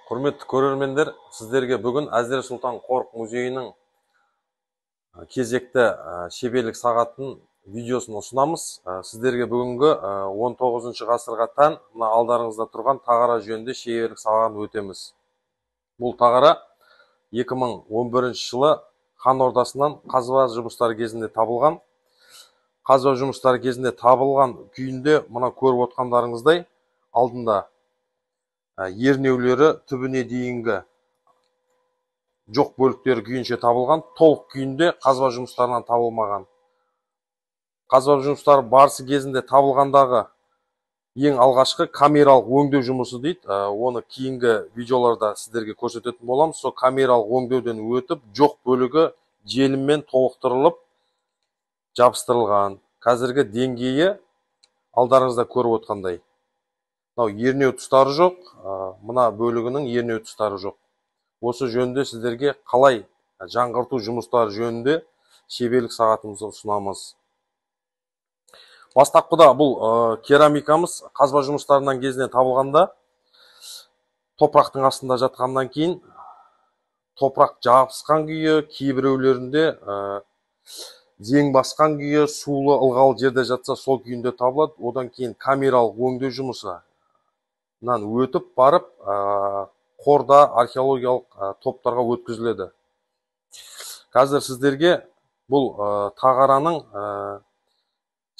Құрметті көрермендер, сіздерге бүгін Әзірет Сұлтан Қорық музейінің кезекті шеберлік сағаттың видеосын ұсынамыз. Сіздерге бүгінгі 19 ғасырға тән мына алдарыңызда тұрған тағара жөнінде шеберлік сағатын өтеміз. Бұл тағара 2011 жылы хан ордасынан қазба жұмыстары кезінде табылған. Қазба жұмыстары кезінде табылған күйінде мына көріп отқандарыңыздай алдында ернеулері түбіне дейінгі жоқ бөліктері күйінше табылған, толық күйінде қазба жұмыстарынан табылмаған. Қазба жұмыстары барысы кезінде табылғандағы ең алғашқы камералық өңдеу жұмысы дейді. Оны кейінгі видеоларда сіздерге көрсететін боламыз. Сол камералық өңдеуден өтіп, жоқ бөлігі желіммен толықтырылып, жабыстырылған. Қазіргі деңгейі алдарыңызда көріп отқандай. Ернеу тұстары жоқ, мына бөлігінің ернеу тұстары жоқ. Осы жөнінде сіздерге қалай жаңғырту жұмыстары жөнінде шеберлік сағатымызды ұсынамыз. Бастапқыда бұл керамикамыз қазба жұмыстарынан кезінен табылғанда топырақтың астында жатқаннан кейін топырақ жабысқан күйі, кейбіреулерінде зең басқан күйі, сулы ылғал жерде жатса сол күйінде табылады. Одан кейін камералық өңдеу жұмысынан өтіп барып қорда археологиялық топтарға өткізіледі. Қазір сіздерге бұл тағараның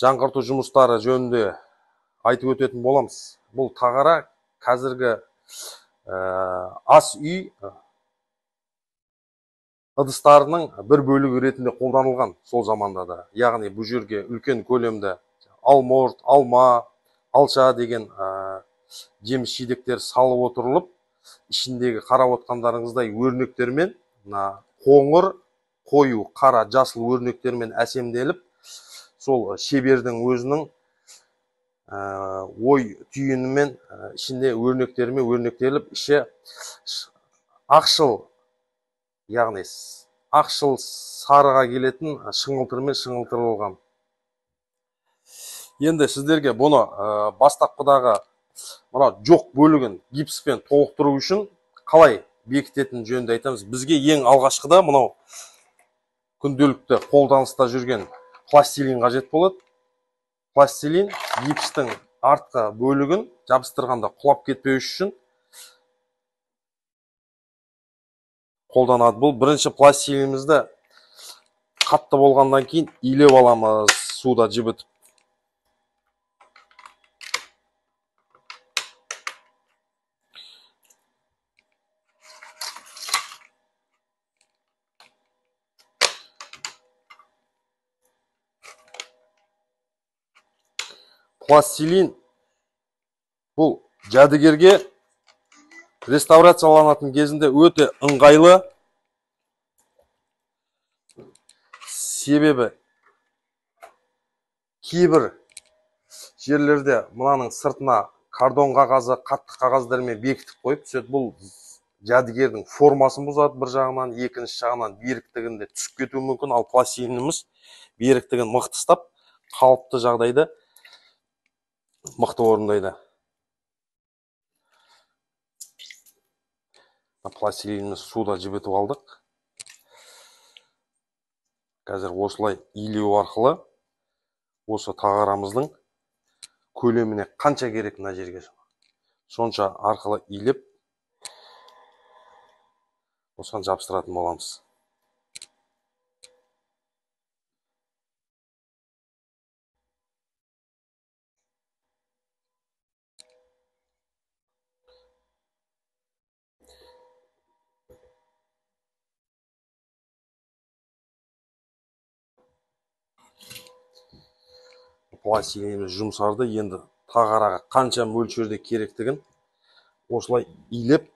жаңғырту жұмыстары жөнінде айтып өтетін боламыз. Бұл тағара қазіргі ас үй ыдыстарының бір бөлігі ретінде қолданылған сол заманда да. Яғни бұл жерге үлкен көлемді алмұрт, алма, алша деген жеміс жидектер салып отырылып, ішіндегі қарап отқандарыңыздай өрнектермен, қоңыр, қою, қара, жасыл өрнектермен әсемделіп, сол шебердің өзінің ой түйінімен ішінде өрнектермен өрнектеліп, іші ақшыл, яғни ақшыл сарыға келетін шыңылтырмен шыңылтырылған. Енді сіздерге бұны бастапқыдағы мына жоқ бөлігін гипспен толықтыру үшін қалай бекітетін жөнінде айтамыз. Бізге ең алғашқыда мынау күнделікті қолданыста жүрген пластилин қажет болады. Пластилин гипстің артқы бөлігін жабыстырғанда құлап кетпеу үшін қолданады. Бұл бірінші пластилинімізді қатты болғаннан кейін илеп аламыз суда жібітіп. Пластилин бұл жәдігерге реставрацияланатын кезінде өте ыңғайлы. Себебі кейбір жерлерде мынаның сыртына кардон қағазы, қатты қағаздармен бекітіп қойып, бұл жәдігердің формасын бұзады бір жағынан, екінші жағынан беріктігінде түсіп кетуі мүмкін. Ал пластилиніміз беріктігін мықты ұстап, қалыпты жағдайда мықты орындайды. Пластилиніміз суда жібітіп алдық. Қазір осылай илеу арқылы осы тағарамыздың көлеміне қанша керек мына жерге сонша арқылы илеп осыған жабыстыратын боламыз. Пластилиніміз жұмсарды, енді тағараға қанша мөлшерде керектігін осылай илеп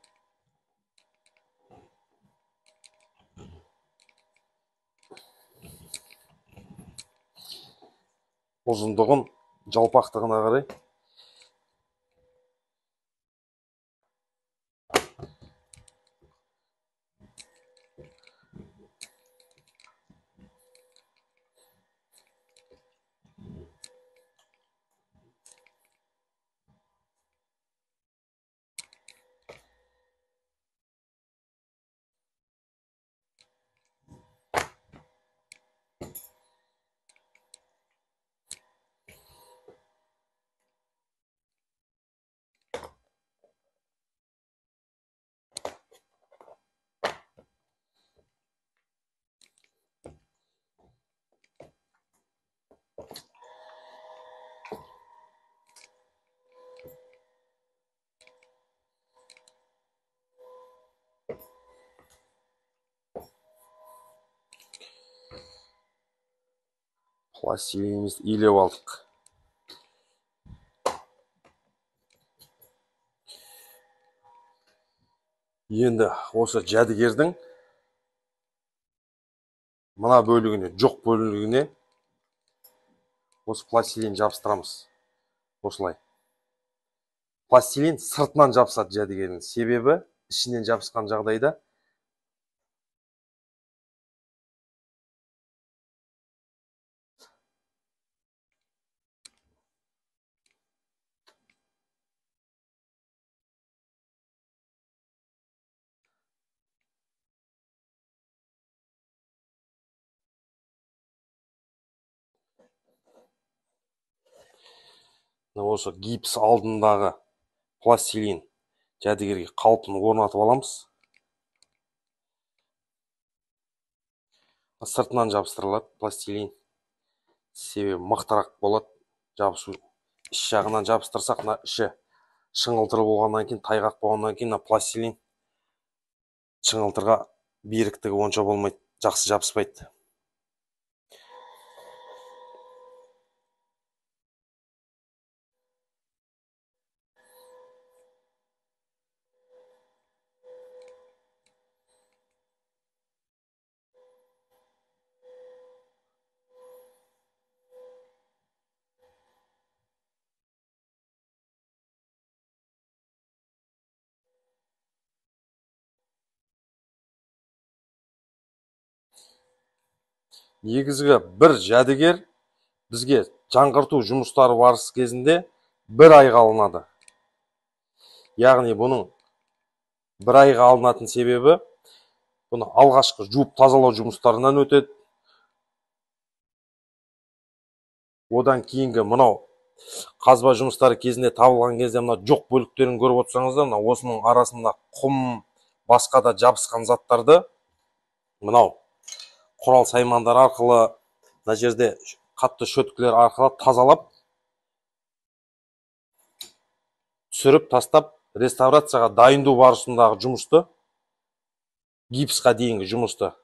ұзындығын жалпақтығына қарай Пластилинімізді илеп алдық. Енді осы жәдігердің мына бөлігіне, жоқ бөлігіне осы пластилин жабыстырамыз. Осылай. Пластилин сыртынан жабысады жәдігердің. Себебі ішінен жабысқан жағдайда осы гипс алдындағы пластилин жәдігерге қалпын орнатып аламыз. Сыртынан жабыстырылады пластилин. Себебі мықтырақ болады жабысу. Іш жағынан жабыстырсақ, іші шыңылтыр болғаннан кейін, тайғақ болғаннан кейін, пластилин шыңылтырға беріктігі онша болмайды, жақсы жабыспайды. Негізгі бір жәдігер бізге жаңғырту жұмыстары барысы кезінде 1 айға алынады. Яғни бұның 1 айға алынатын себебі, бұны алғашқы жуып тазалау жұмыстарынан өтеді. Одан кейінгі мынау қазба жұмыстары кезінде табылған кезде мына жоқ бөліктерін көріп отырсаңыздар, мына осының арасында құм, басқа да жабысқан заттарды мынау құрал саймандар арқылы, мына жерде қатты шөткілер арқылы тазалап, түсіріп тастап, реставрацияға дайындау барысындағы жұмысты, гипсқа дейінгі жұмысты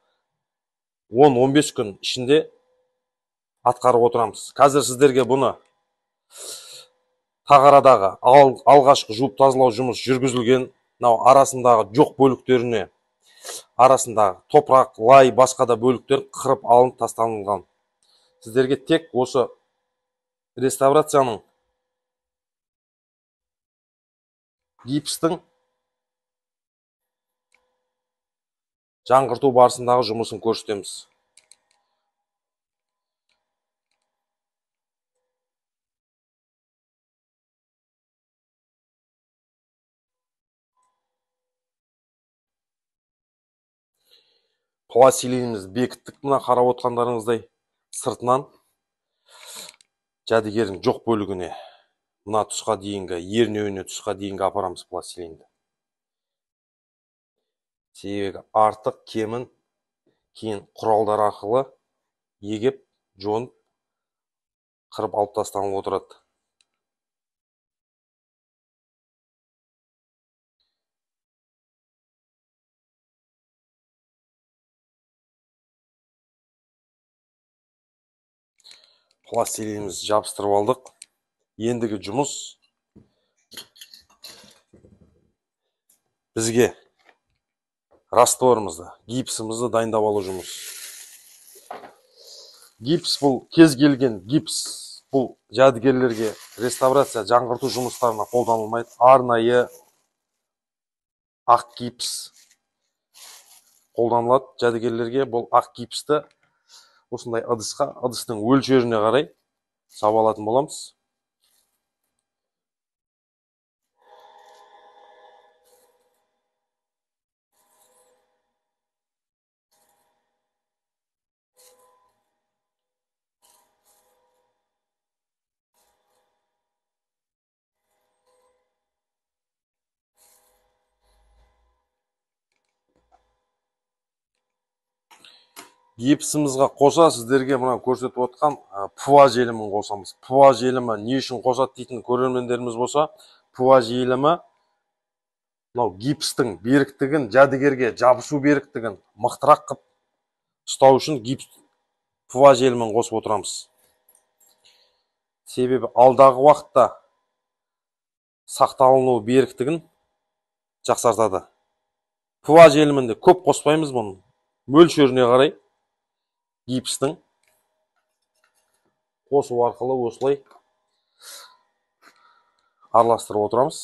10-15 күн ішінде атқарып отырамыз. Қазір сіздерге бұны тағарадағы алғашқы жуып тазалау жұмыс жүргізілген, арасындағы жоқ бөліктеріне, арасындағы топырақ, лай, басқа да бөліктер қырып алынып тасталынған. Сіздерге тек осы реставрацияның, гипстің жаңғырту барысындағы жұмысын көрсетеміз. Пластилинімізді бекіттік, мына қарап отқандарыңыздай, сыртынан жәдігердің жоқ бөлігіне, мына тұсқа дейінгі, ернеуіне тұсқа дейінгі апарамыз пластилинді. Себебі артық кемін кейін құралдар арқылы егеп, жонып, қырып алып тасталынып отырады. Пластилинімізді жабыстырып алдық. Ендігі жұмыс бізге растворымызды, гипсімізді дайындап алу жұмыс. Гипс бұл кез келген гипс, бұл жәдігерлерге реставрация, жаңғырту жұмыстарына қолданылмайды. Арнайы ақ гипс қолданылады жәдігерлерге. Бұл ақ гипсті осындай ыдысқа, ыдыстың өлшеріне қарай сап алатын боламыз. Гипсімізға қоса сіздерге мына көрсетіп отқан ПУА желімін қосамыз. ПУА желімі не үшін қосады дейтін көрермендеріміз болса, ПУА желімі мынау гипстің беріктігін, жәдігерге жабысу беріктігін мықтырақ қып ұстау үшін ПУА желімін қосып отырамыз. Себебі алдағы уақытта сақталыну беріктігін жақсартады. ПВА желімінде көп қоспаймыз бұны. Мөлшеріне қарай гипстің қосу арқылы осылай араластырып отырамыз.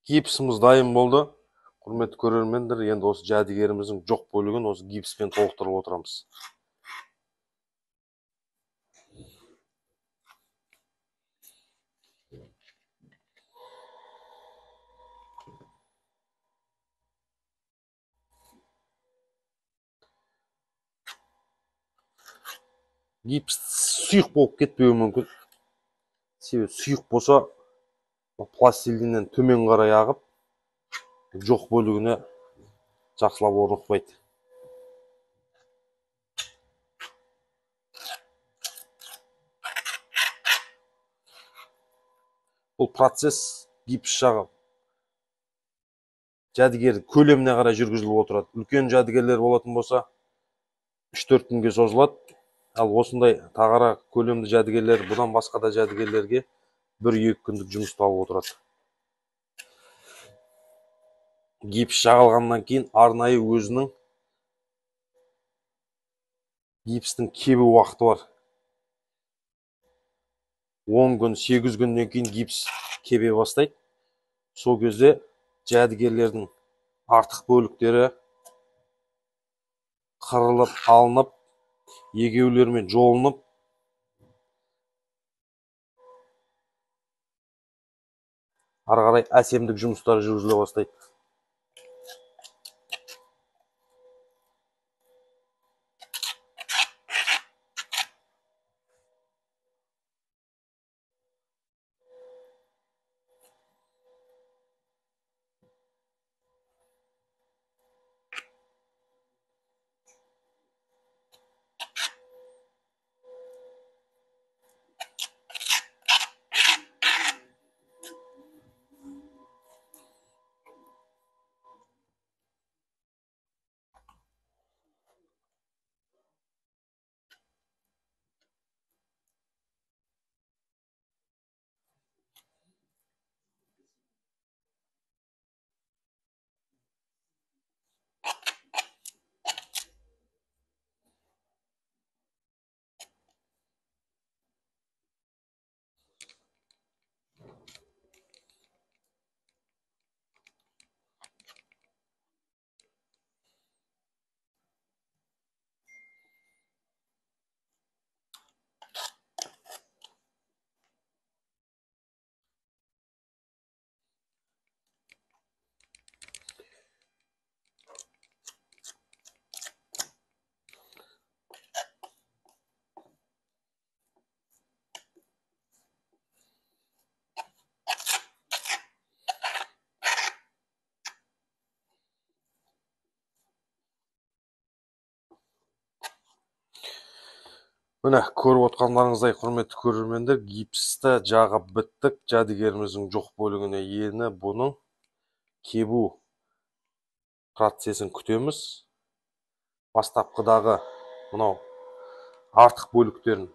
Гипсіміз дайын болды. Құрметті көрермендер, енді осы жәдігеріміздің жоқ бөлігін осы гипспен толықтырып отырамыз. Гипс сұйық болып кетпеуі мүмкін. Себебі сұйық болса, пластилиннен төмен қарай ағып, жоқ бөлігіне жақсылап орнықпайды. Бұл процесс гипс жағы жәдігер көлеміне қарай жүргізіліп отырады. Үлкен жәдігерлер болатын болса 3-4 күнге созылады. Ал осындай тағара көлемді жәдігерлер, бұдан басқа да жәдігерлерге 1-2 күндік жұмысталып отырады. Гипс жағылғаннан кейін арнайы өзінің гипстің кебу уақыты бар. 10 күн, 8 күннен кейін гипс кебе бастайды. Сол кезде жәдігерлердің артық бөліктері қырылып, алынып, егеулермен жолынып, ары қарай әсемдік жұмыстары жүргізіле бастайды. Міне, көріп отқандарыңыздай, құрметті көрермендер, гипсті жағып біттік. Жәдігеріміздің жоқ бөлігіне ені бұның кебу процесін күтеміз. Бастапқыдағы мынау артық бөліктерін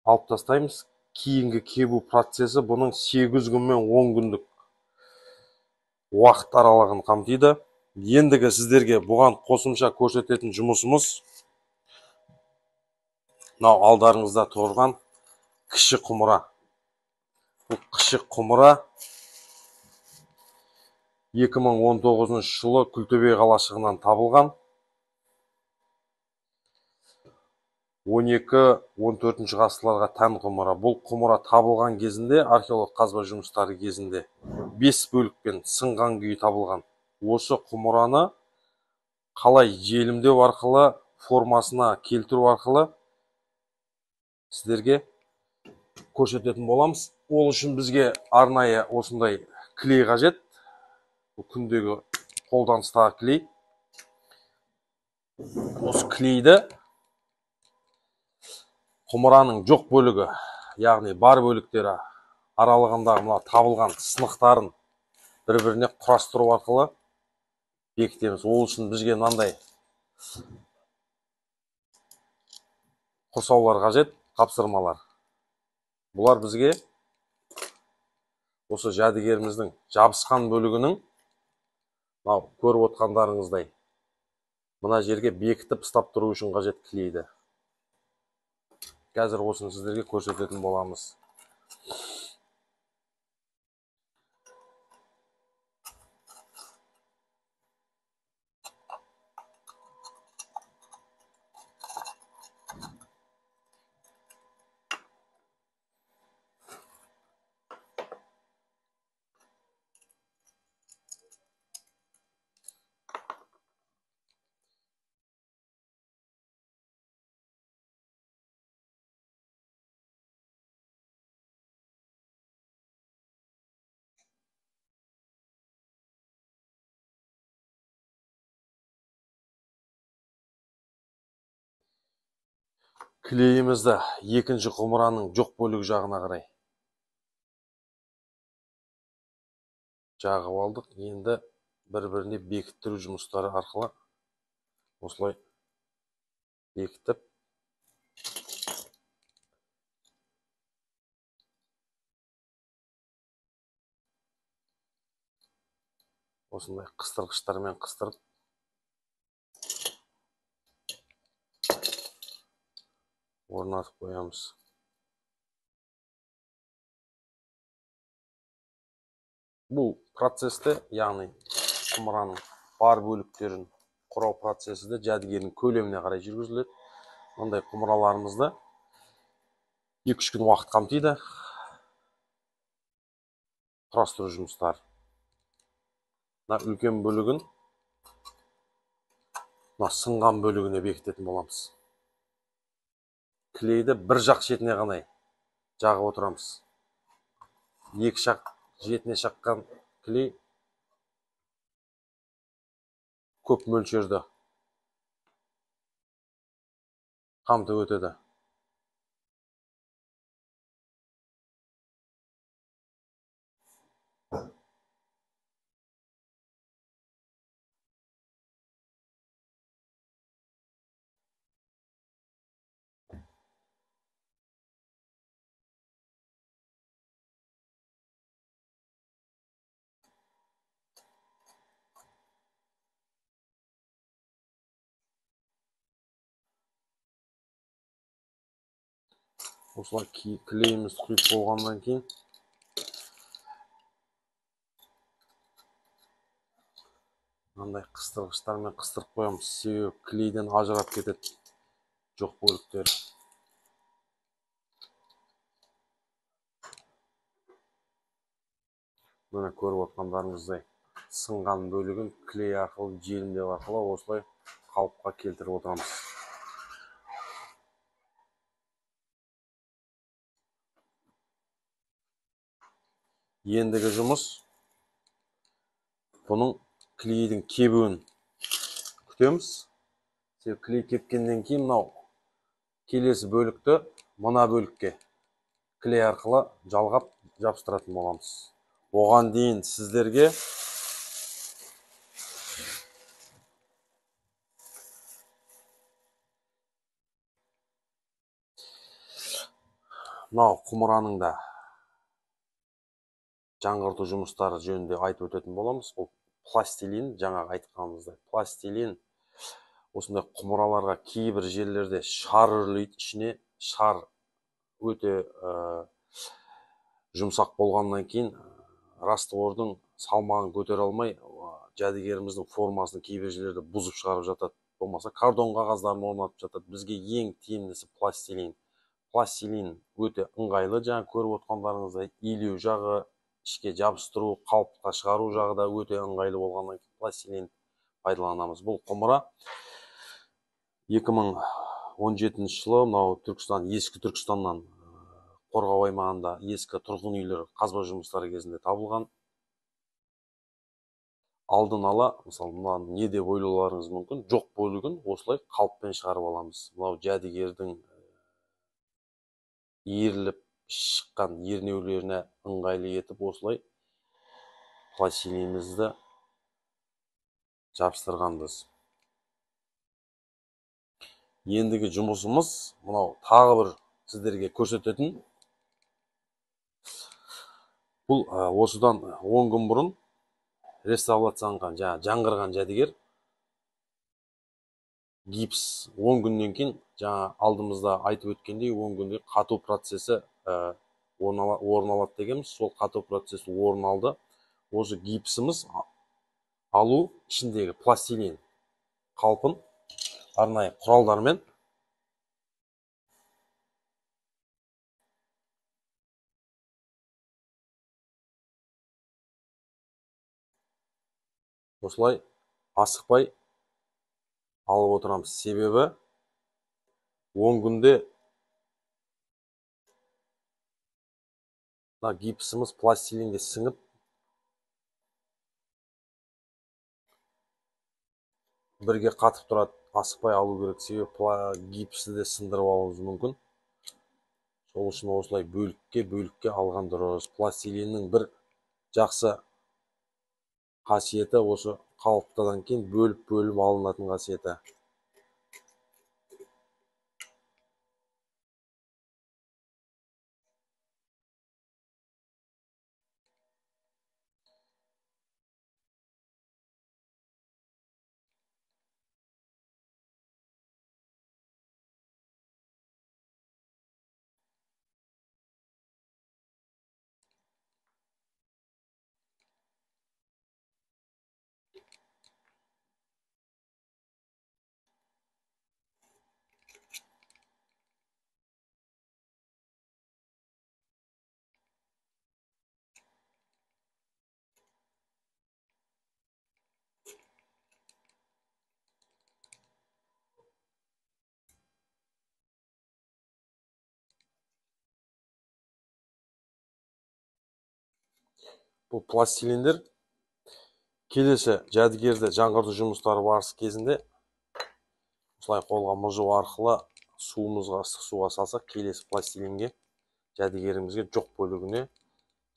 алып тастаймыз. Кейінгі кебу процесі бұның 8 күн мен 10 күндік уақыт аралығын қамтиды. Ендігі сіздерге бұған қосымша көрсететін жұмысымыз мынау алдарыңызда тұрған кіші құмыра. Бұл кіші құмыра 2019 жылы Күлтөбе қалашығынан табылған. 12-14 ғасырларға тән құмыра. Бұл құмыра табылған кезінде, археолог қазба жұмыстары кезінде 5 бөлікпен сынған күйі табылған. Осы құмыраны қалай желімдеу арқылы, формасына келтіру арқылы сіздерге көрсететін боламыз. Ол үшін бізге арнайы осындай клей қажет. Бұл күндегі қолданыстағы клей. Осы клейді құмыраның жоқ бөлігі, яғни бар бөліктері аралығындағы мына табылған сынықтарын бір-біріне құрастыру арқылы бекітеміз. Ол үшін бізге мынандай құрсаулар қажет, қапсырмалар. Бұлар бізге осы жәдігеріміздің жабысқан бөлігінің көріп отқандарыңыздай мына жерге бекітіп ұстап тұру үшін қажет клейді. Қазір осыны сіздерге көрсететін боламыз. Клейімізді екінші құмыраның жоқ бөлігі жағына қарай жағып алдық. Енді бір-біріне бекіттіру жұмыстары арқылы осылай бекітіп осындай қыстырғыштармен қыстырып орнатып қоямыз. Бұл процесті, яғни құмыраның бар бөліктерін құрау процесі де жәдігердің көлеміне қарай жүргізіледі. Мұндай құмыраларымызды 2-3 күн уақыт қамтиды. Құрастыру жұмыстары. Мына үлкен бөлігін мына сынған бөлігіне бекітетін боламыз. Клейді бір жақ шетіне ғана жағып отырамыз. Екі жақ жетіне шаққан клей көп мөлшерді қамтып өтеді. Осылай клейіміз құйып болғаннан кейін мынандай қыстырғыштармен қыстырып қоямыз. Себебі клейден ажырап кетеді жоқ бөліктер. Міне көріп отқандарыңыздай сынған бөлігін клей арқылы, желімдеу арқылы осылай қалыпқа келтіріп отырамыз. Ендігі жұмыс бұның клейдің кебуін күтеміз. Клей кепкеннен кейін мынау келесі бөлікті мына бөлікке клей арқылы жалғап жабыстыратын боламыз. Оған дейін сіздерге мынау құмыраның да жаңғырту жұмыстары жөнінде айтып өтетін боламыз. Бұл пластилин, жаңағы айтқанымыздай пластилин осындай құмыраларға кейбір жерлерде шар үрлейді, ішіне шар өте жұмсақ болғаннан кейін раствордың салмағын көтере алмай жәдігеріміздің формасын кейбір жерлерде бұзып шығарып жатады, болмаса картон қағаздарын орнатып жатады. Бізге ең тиімдісі пластилин. Пластилин өте ыңғайлы, жаңа көріп отқандарыңыздай илеу жағы, ішке жабыстыру, қалыпқа шығару жағы да өте ыңғайлы болғаннан кейін пластилин пайдаланамыз. Бұл құмыра 2017 жылы мынау Түркістан, ескі Түркістаннан Қорғау аймағында ескі тұрғын үйлер қазба жұмыстары кезінде табылған. Алдын ала, мысалы, мынаны не деп ойлауларыңыз мүмкін, жоқ бөлігін осылай қалыппен шығарып аламыз. Мынау жәдігердің иіріліп шыққан ернеулеріне ыңғайлы етіп осылай пластилинімізді жабыстырғанбыз. Ендігі жұмысымыз мынау тағы бір сіздерге көрсететін. Бұл осыдан 10 күн бұрын реставрацияланған, жаңғырған жәдігер. Гипс 10 күннен кейін, жаңа алдымызда айтып өткендей, 10 күнде қату процесі орын алады дегенбіз. Сол қату процесі орын алды. Осы гипсіміз алу ішіндегі пластилин қалпын арнайы құралдармен осылай асықпай алып отырамыз. Себебі 10 күнде гипсіміз пластилинге сіңіп, бірге қатып тұрады. Асықпай алу керек, себебі гипсті де сындырып алуымыз мүмкін. Сол үшін осылай бөлікке алған дұрыс. Пластилиннің бір жақсы қасиеті осы қалыптадан кейін бөліп алынатын қасиеті. Бұл пластилиндер келесі жәдігерді жаңғырту жұмыстары барысы кезінде осылай қолға мұжу арқылы суға салсақ, келесі пластилинге жәдігерімізге жоқ бөлігіне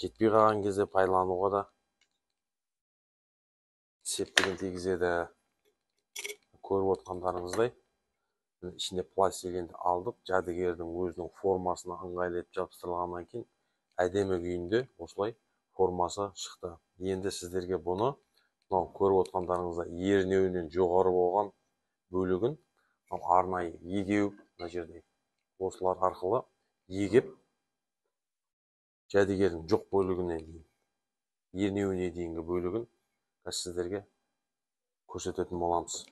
жетпей қалған кезде пайдалануға да септігін тигізеді. Көріп отқандарыңыздай ішінде пластилинді алдық, жәдігердің өзінің формасына ыңғайлы етіп жабыстырылғаннан кейін әдемі күйінде осылай формасы шықты. Енді сіздерге бұны мынау көріп отқандарыңыздай ернеуінен жоғары болған бөлігін арнайы егеу, мына жерде осылар арқылы егеп жәдігердің жоқ бөлігіне дейін, ернеуіне дейінгі бөлігін сіздерге көрсететін боламыз.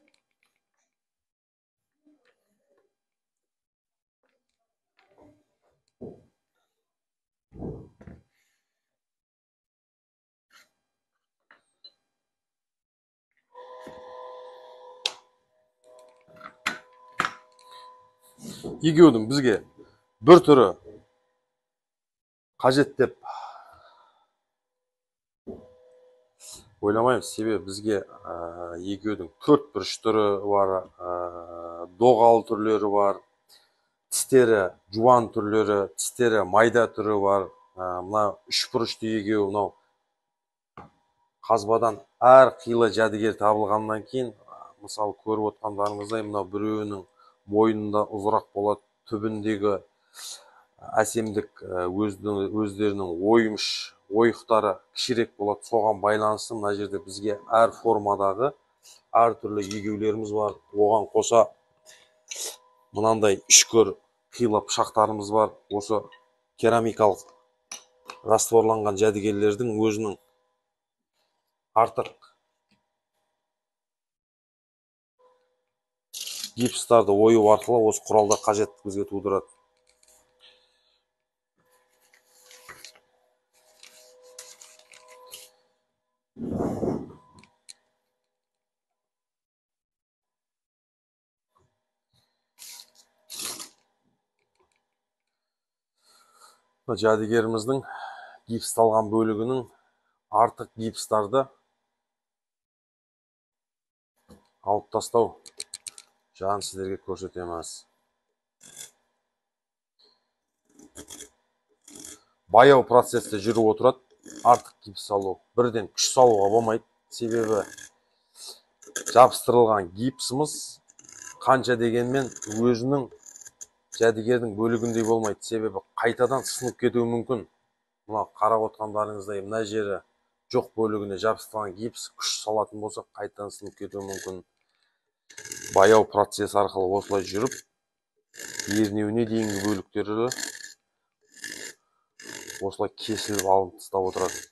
Егеудің бізге бір түрі қажет деп ойламаймыз. Себебі бізге егеудің төрт бұрыш түрі бар, доғал түрлері бар, тістері жуан түрлері, тістері майда түрі бар. Мына үшбұрышты егеу, мынау қазбадан әр қилы жәдігер табылғаннан кейін, мысалы көріп отқандарыңыздай, мынау біреуінің мойнында ұзырақ болады, түбіндегі әсемдік өздерінің ойықтары кішірек болады. Соған байланысты мына жерде бізге әр формадағы әртүрлі егеулеріміз бар. Оған қоса мынандай үшкір қилы пышақтарымыз бар. Осы керамикалық растворланған жәдігерлердің өзінің артық гипстарды ою арқылы осы құралдар қажеттілік бізге тудырады. Жәдігеріміздің гипсталған бөлігінің артық гипстарды алып тастау жағын сіздерге көрсетеміз. Баяу процесте жүріп отырады. Артық гипс салу, бірден күш салуға болмайды. Себебі жабыстырылған гипсіміз қанша дегенмен өзінің жәдігердің бөлігіндей болмайды. Себебі қайтадан сынып кетуі мүмкін. Мына қарап отқандарыңыздай, мына жері жоқ бөлігіне жабыстырылған гипс күш салатын болса, қайтадан сынып кетуі мүмкін. Баяу процесс арқылы осылай жүріп, ернеуіне дейінгі бөліктері осылай кесіліп алынып тастап отырады.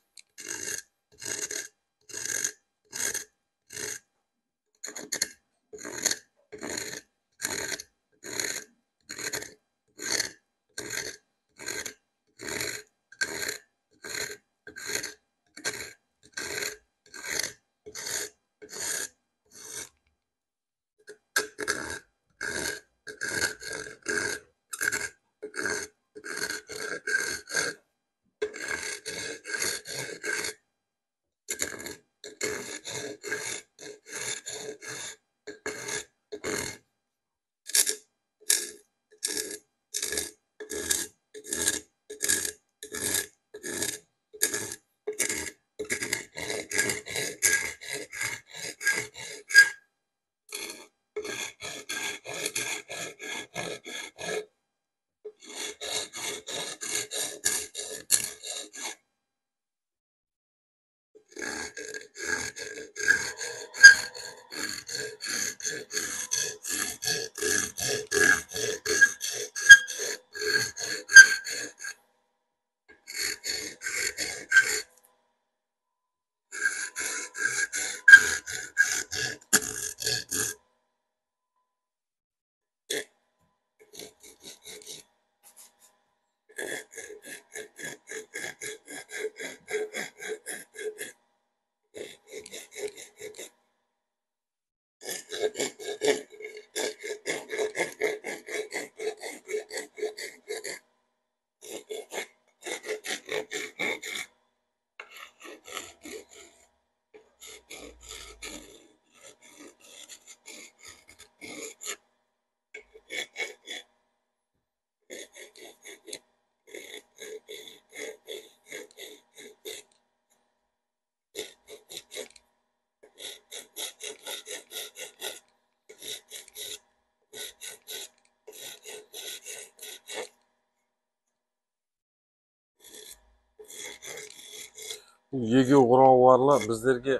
Егеу құралы біздерге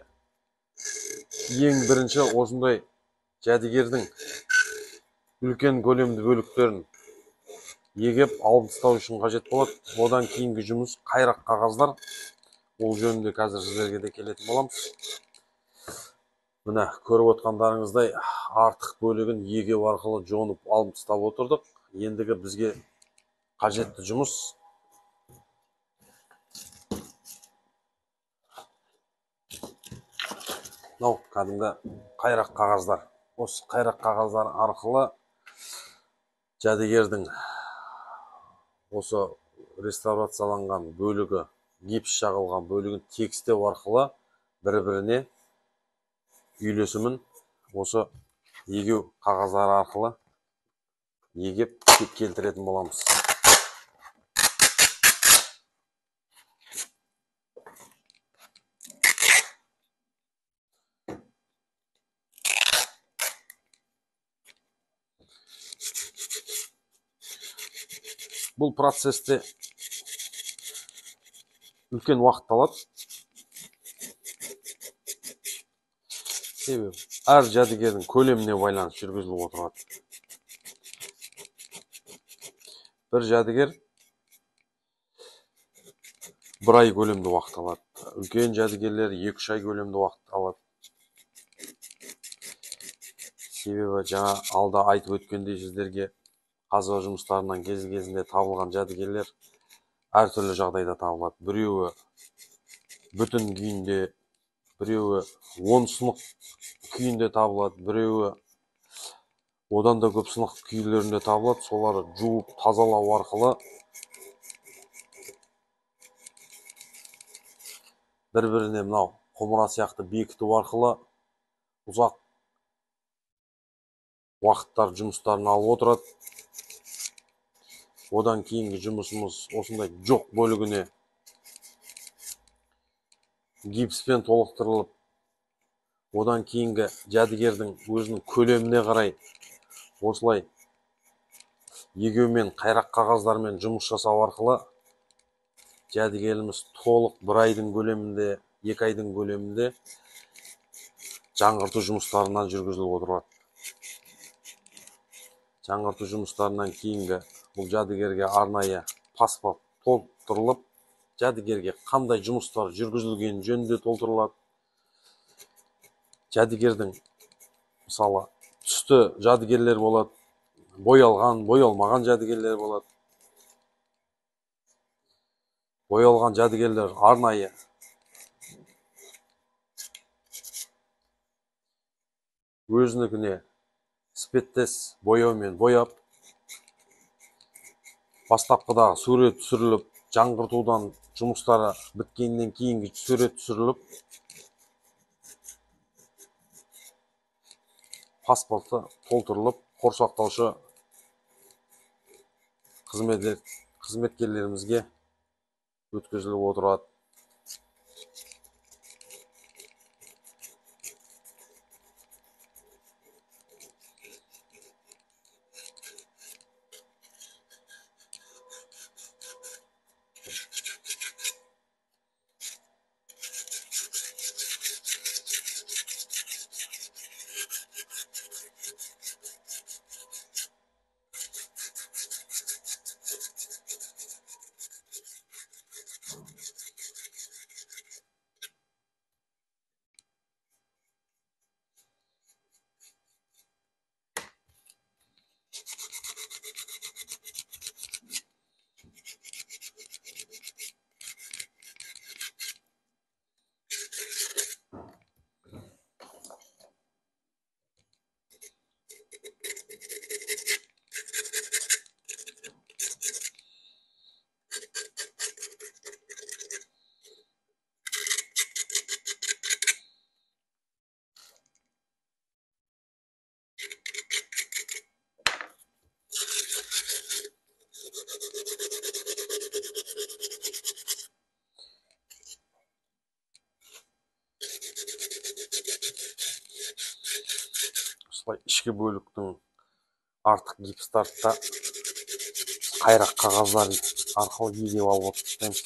ең бірінші осындай жәдігердің үлкен көлемді бөліктерін егеп алып тастау үшін қажет болады. Одан кейінгі жұмыс қайрақ қағаздар. Ол жөнінде қазір сіздерге де келетін боламыз. Міне көріп отқандарыңыздай артық бөлігін егеу арқылы жонып алып тастап отырдық. Ендігі бізге қажетті жұмыс мынау кәдімгі қайрақ қағаздар. Осы қайрақ қағаздар арқылы жәдігердің осы реставрацияланған бөлігі, гипс жағылған бөлігін тегістеу арқылы бір-біріне үйлесімін осы егеу қағаздары арқылы егеп келтіретін боламыз. Бұл процесте үлкен уақыт алады. Себебі әр жәдігердің көлеміне байланысты жүргізіліп отырады. Бір жәдігер бір ай көлемді уақыт алады. Үлкен жәдігерлер 2-3 ай көлемді уақыт алады. Себебі жаңа алда айтып өткендей сіздерге қазба жұмыстарынан кезінде табылған жәдігерлер әртүрлі жағдайда табылады. Біреуі бүтін күйінде, біреуі 10 сынық күйінде табылады, біреуі одан да көп сынық күйлерінде табылады. Соларды жуып тазалау арқылы бір-біріне мынау құмыра сияқты бекіту арқылы ұзақ уақыттар жұмыстарын алып отырады. Одан кейінгі жұмысымыз осындай жоқ бөлігіне гипспен толықтырылып, одан кейінгі жәдігердің өзінің көлеміне қарай осылай егеумен қайрақ қағаздармен жұмыс жасау арқылы жәдігеріміз толық 1 айдың көлемінде, 2 айдың көлемінде жаңғырту жұмыстарынан жүргізіліп отырады. Жаңғырту жұмыстарынан кейінгі бұл жәдігерге арнайы паспорт толтырылып, жәдігерге қандай жұмыстар жүргізілген жөнінде толтырылады. Жәдігердің мысалы түсті жәдігерлер болады, боялған, боялмаған жәдігерлер болады. Боялған жәдігерлер арнайы өзінікіне іспеттес бояумен бояп, бастапқыдағы сурет түсіріліп, жаңғыртудан жұмыстары біткеннен кейінгі сурет түсіріліп, паспорты толтырылып, қорсақтаушы қызметкерлерімізге өткізіліп отырады. Ішкі бөліктің артық гипстарды да қайрақ қағаздар арқылы егіп алып отырмыз.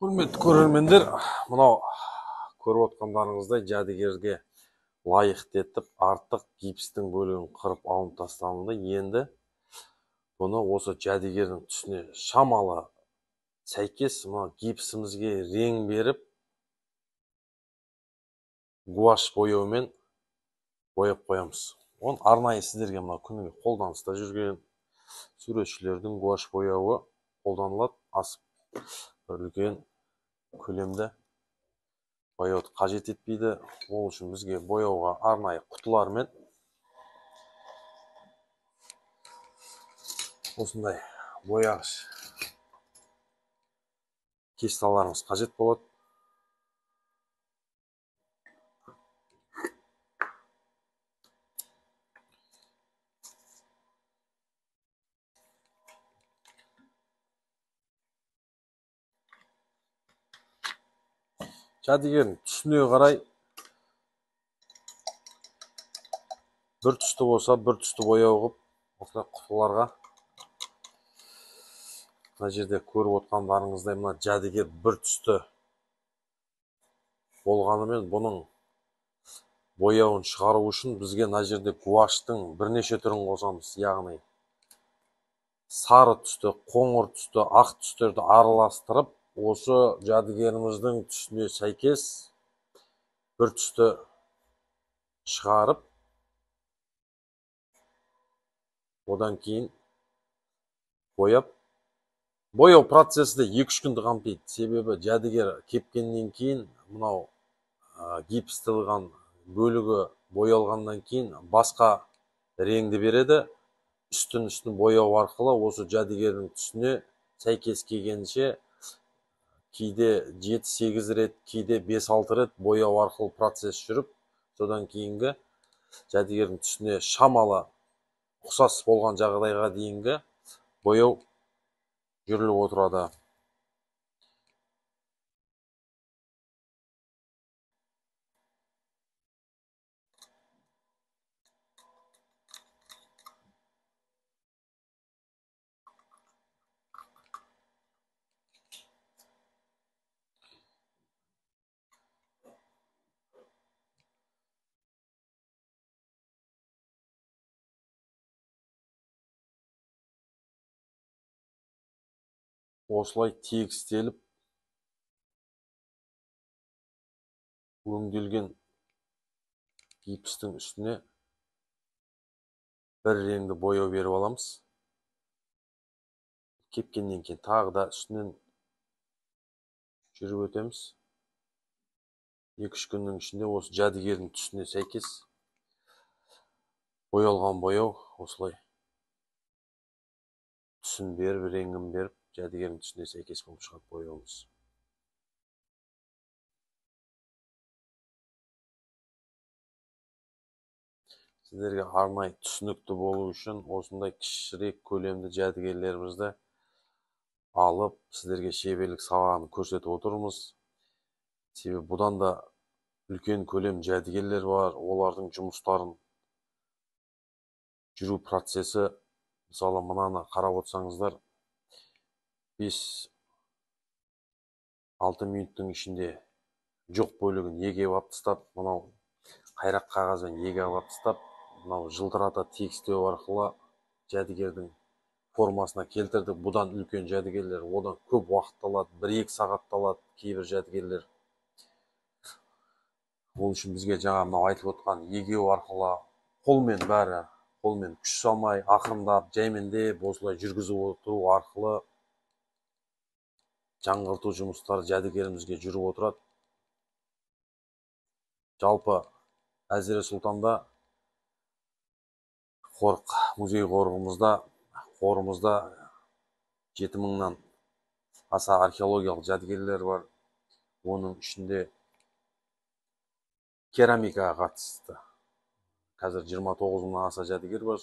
Құрметті көрермендер, мынау көріп отқандарыңыздай жәдігерге лайықты етіп артық гипстің бөлігін қырып алынып тасталынды. Енді бұны осы жәдігердің түсіне шамалы сәйкес мына гипсімізге рең беріп, гуаш бояумен бояп қоямыз. Оны арнайы сіздерге мына күніге қолданыста жүрген суретшілердің гуаш бояуы қолданылады. Асып бір үлкен көлемді бояуды қажет етпейді. Ол үшін бізге бояуға арнайы құтылармен осындай бояғыш кесталарымыз қажет болады. Жәдігердің түсіне қарай бір түсті болса, бір түсті бояу қылып, осылай құтыларға мына жерде көріп отқандарыңыздай мына жәдігер бір түсті болғанымен бұның бояуын шығару үшін бізге мына жерде гуаштың бірнеше түрін қосамыз. Яғни сары түсті, қоңыр түсті, ақ түстерді араластырып, осы жәдігеріміздің түсіне сәйкес бір түсті шығарып, одан кейін бояп. Бояу процесі де 2-3 күнді қамтиды. Себебі жәдігер кепкеннен кейін мынау гипстілған бөлігі боялғаннан кейін басқа реңді береді. Үстін бояу арқылы осы жәдігердің түсіне сәйкес келгенше кейде 7-8 рет, кейде 5-6 рет бояу арқылы процесс жүріп, содан кейінгі жәдігердің түсіне шамалы ұқсас болған жағдайға дейінгі бояу жүріліп отырады. Осылай тегістеліп өңделген гипстің үстіне бір реңді бояу беріп аламыз. Кепкеннен кейін тағы да үстінен жүріп өтеміз. 2-3 күннің ішінде осы жәдігердің түсіне сәйкес боялған бояу осылай түсін беріп, реңін беріп, жәдігердің түсіне сәйкес болып шығады бояуымыз. Сіздерге арнайы түсінікті болу үшін осындай кішірек көлемді жәдігерлерімізді алып, сіздерге шеберлік сабағын көрсетіп отырмыз. Себебі бұдан да үлкен көлем жәдігерлер бар, олардың жұмыстарын жүру процесі, мысалы мынаны қарап отырсаңыздар, 5-6 минуттың ішінде жоқ бөлігін егеп алып тастап, мынау қайрақ қағазбен егіп алып тастап, мынау жылтырата тегістеу арқылы жәдігердің формасына келтірдік. Бұдан үлкен жәдігерлер одан көп уақыт алады, 1-2 сағат алады кейбір жәдігерлер. Ол үшін бізге жаңа мынау айтып отқан егеу арқылы қолмен күш салмай, ақырындап, жәймендеп осылай жүргізіп отыру арқылы жаңғырту жұмыстары жәдігерімізге жүріп отырады. Жалпы Әзіре Сұлтанда музей қорымызда 7000-нан аса археологиялық жәдігерлер бар. Оның ішінде керамикаға қатысты қазір 29-нан аса жәдігер бар.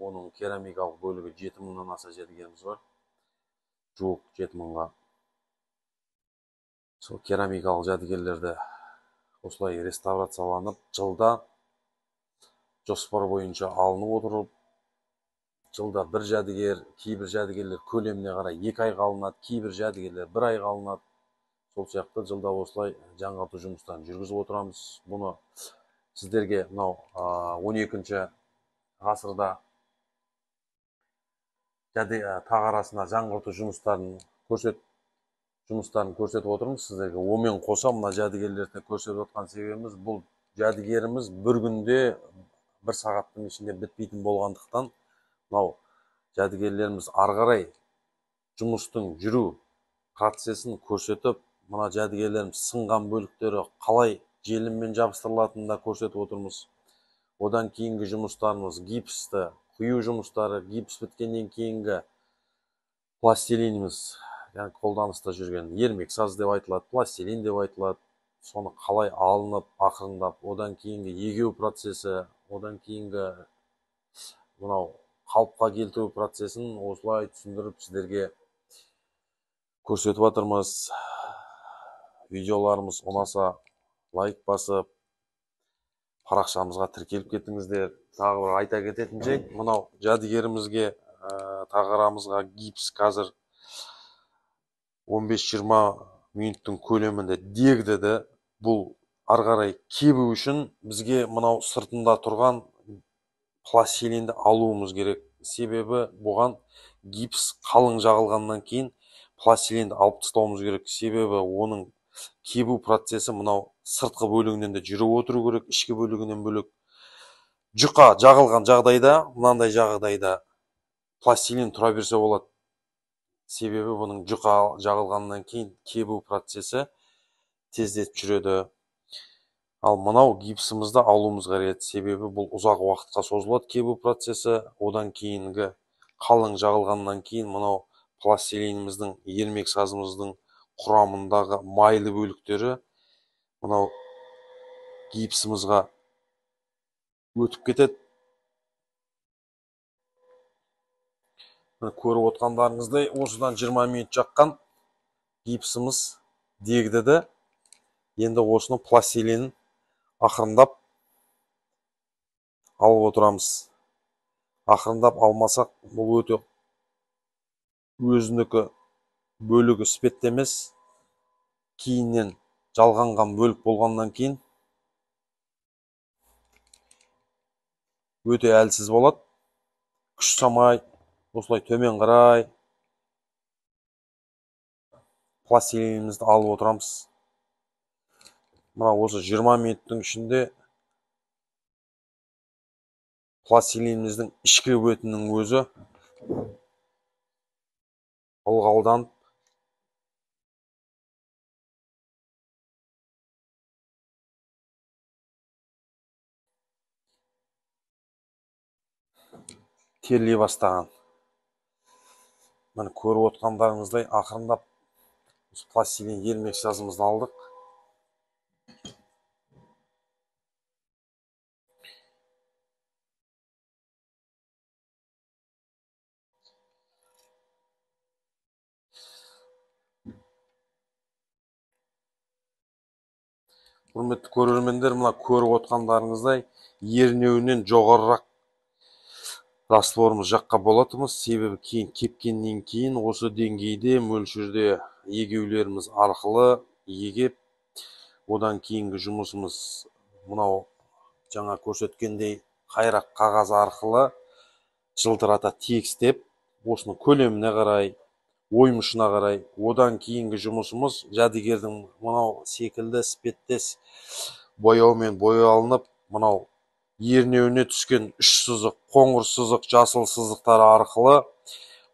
Оның керамикалық бөлігі 7000-нан аса жәдігеріміз бар. Жуық 7000-ға. Сол керамикалық жәдігерлерді осылай реставрацияланып, жылда жоспар бойынша алынып отырып, жылда бір жәдігер, кейбір жәдігерлер көлеміне қарай 2 айға алынады, кейбір жәдігерлер 1 айға алынады. Сол сияқты жылда осылай жаңғырту жұмыстарын жүргізіп отырамыз. Бұны сіздерге мынау 12-ші ғасырда тақ арасына жаңғырту жұмыстарын көрсетіп отырмыз сіздерге. Онымен қоса мына жәдігерлерді көрсетіп отқан себебіміз, бұл жәдігеріміз бір күнде 1 сағаттың ішінде бітпейтін болғандықтан, мынау жәдігерлеріміз ары қарай жұмыстың жүру процесін көрсетіп, мына жәдігерлеріміз сынған бөліктері қалай желіммен жабыстырылатынын да көрсетіп отырмыз. Одан кейінгі жұмыстарымыз гипсті құю жұмыстары, гипс біткеннен кейінгі пластилиніміз, яғни қолданыста жүрген ермек саз деп айтылады, пластилин деп айтылады. Соны қалай алынып, ақырындап, одан кейінгі егеу процесі, одан кейінгі мынау қалыпқа келтіру процесін осылай түсіндіріп сіздерге көрсетіп жатырмыз. Видеоларымыз ұнаса лайк басып, парақшамызға тіркеліп кетіңіздер. Тағы бір айта кететін жайт, мынау жәдігерімізге тағарамызға гипс қазір 15-20 минуттың көлемінде дегдеді. Бұл ары қарай кебу үшін бізге мынау сыртында тұрған пластилинді алуымыз керек. Себебі бұған гипс қалың жағылғаннан кейін пластилинді алып тастауымыз керек. Себебі оның кебу процесі мынау сыртқы бөлігінен де жүріп отыру керек, ішкі бөлігінен бөлек. Жұқа жағылған жағдайда, мынандай жағдайда пластилин тұра берсе болады. Себебі бұның жұқа жағылғаннан кейін кебу процесі тездетіп жүреді. Ал мынау гипсімізді алуымыз қажет. Себебі бұл ұзақ уақытқа созылады кебу процесі. Одан кейінгі қалың жағылғаннан кейін мынау пластилиніміздің, ермек сазымыздың құрамындағы майлы бөліктері мынау гипсімізға өтіп кетеді. Көріп отқандарыңыздай, осыдан 20 минут жаққан гипсіміз дегдеді. Енді осының пластилинін ақырындап алып отырамыз. Ақырындап алмасақ, бұл өте өзінікі бөлігі іспетті емес. Кейіннен жалғанған бөлік болғаннан кейін өте әлсіз болады. Күш самай, осылай төмен қарай пластилинімізді алып отырамыз. Мына осы 20 минуттың ішінде пластилиніміздің ішкі бетінің өзі ылғалданып теріле бастаған. Міне көріп отқандарыңыздай ақырындап пластилин ермек сазымызды алдық. Құрметті көрермендер, мына көріп отқандарыңыздай ернеуінен жоғарырақ растворымыз жаққа болатымыз. Себебі кейін кепкеннен кейін осы деңгейде мөлшерде егеулеріміз арқылы егеп, одан кейінгі жұмысымыз мынау жаңа көрсеткендей қайрақ қағаз арқылы жылтырата тегістеп, осының көлеміне қарай, оймышына қарай, одан кейінгі жұмысымыз жәдігердің мынау секілді іспеттес бояумен боялынып, мынау ернеуіне түскен 3 сызық, қоңыр сызық, жасыл сызықтары арқылы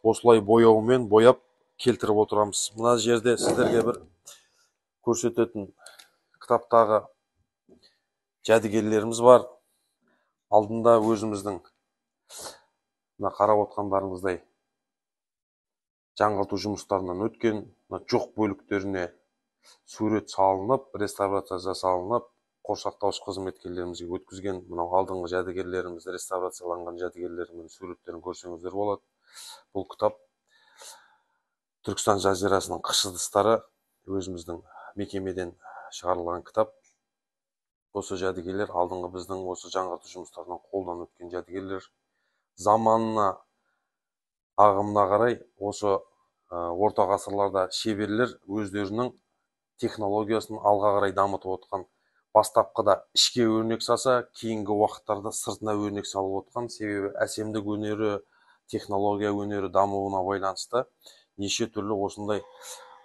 осылай бояумен бояп келтіріп отырамыз. Мына жерде сіздерге бір көрсететін кітаптағы жәдігерлеріміз бар. Алдында өзіміздің мына қарап отқандарыңыздай жаңғырту жұмыстарынан өткен жоқ бөліктеріне сурет салынып, реставрация жасалынып, қоршақтауыш қызметкерлерімізге өткізген мынау алдыңғы жәдігерлеріміз, реставрацияланған жәдігерлерінің суреттерін көрсеңіздер болады. Бұл кітап Түркістан жазирасының қыш ыдыстары өзіміздің мекемеден шығарылған кітап. Осы жәдігерлер алдыңғы біздің осы жаңғырту жұмыстарынан қолдан өткен жәдігерлер. Заманына ағымына қарай осы орта ғасырларда шеберлер өздерінің технологиясын алға қарай дамытып отқан. Бастапқыда ішке өрнек салса, кейінгі уақыттарда сыртына өрнек салып отқан. Себебі әсемдік өнері, технология өнері дамуына байланысты неше түрлі осындай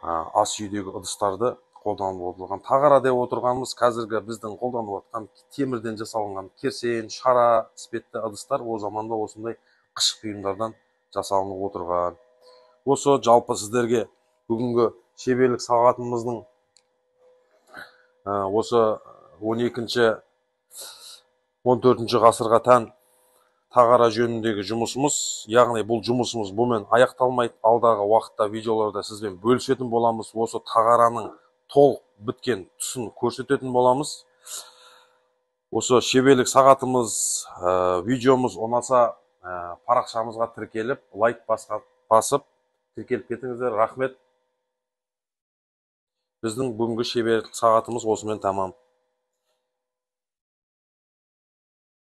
ас үйдегі ыдыстарды қолданып отырған. Тағара деп отырғанымыз қазіргі біздің қолданып отқан темірден жасалынған керсен, шара іспетті ыдыстар о заманда осындай қыш бұйымдардан жасалынып отырған. Осы жалпы сіздерге бүгінгі шеберлік сағатымыздың осы 12-ші 14-ші ғасырға тән тағара жөніндегі жұмысымыз, яғни бұл жұмысымыз бұмен аяқталмайды. Алдағы уақытта видеоларда сізбен бөлісетін боламыз. Осы тағараның толық біткен тұсын көрсететін боламыз. Осы шеберлік сағатымыз видеомыз ұнаса парақшамызға тіркеліп, лайк басып тіркеліп кетіңіздер. Рахмет. Біздің бүгінгі шеберлік сағатымыз осымен тамам.